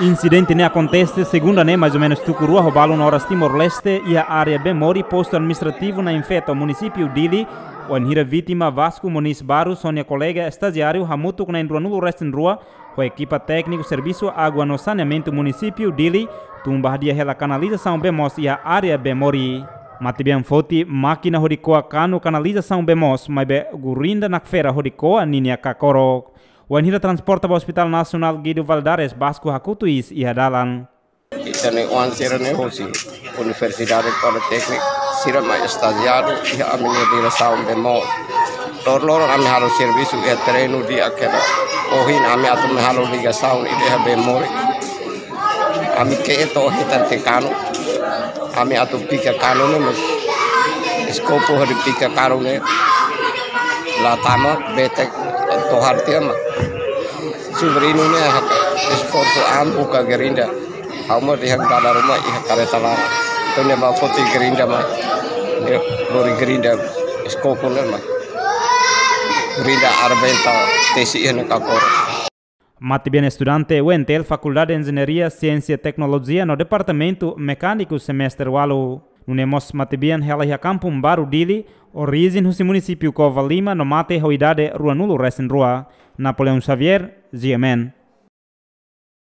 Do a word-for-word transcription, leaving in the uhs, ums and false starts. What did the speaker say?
Insidente ne'e akontese segunda ne'e, mais ou menus tuku rua ho balun oras Timor-Leste, iha área Bemori, postu administrativu Nain Feto, munisípiu Dili, wainhira vítima Vasco Moniz Barros ho nia kolega estajiáriu hamutuk na'in ruanulu resin rua, ho ekipa tékniku servisu água no saneamentu munisípiu Dili, tun ba hadi'a hela kanalizasaun bee moos iha área Bemori. Matebian foti mákina hodi ko'a kanu kanalizasaun bee moos, maibé gerunda nakfera hodi ko'a ninia kakorok. Wainhira transporta ba Hospital Nasionál Guido Valadares, Vasco hakutu iis iha dalan. Ita-nia oan sira-ne'e hosi Universidade Politéknika, sira mak estajiáriu iha ami-nia diresaun bee moos. Loroloron ami halo servisu iha terrenu di'ak hela. Ohin ami atu mai halo ligasaun ida iha Bemori. Ami ke'e to'o hetan tiha kanu. Ami atu pika kanu ne'e, mas eskopu hodi pika kanu ne'e la tama, betek tohar tiha mak. Sobriñu ne'e haka esforsu an buka gerunda. Ha'u mak dehan dada ruma iha kareta laran. Entaun nia bá foti gerunda mai. Nia lori gerunda, eskopu ne'e mai. Gerunda arrebenta tesi iha nia kakorok. Matebian estudante U N T L, Fakuldade Enjeñaria, Siénsia, Teknolojia no Departamentu Mekániku semestre ualu. Nune'e mós matebian hela iha Kampung Baru, Dili, orijen husi munisípiu Covalima no mate ho idade ruanulu resin rua. Napoleão Xavier, G M N.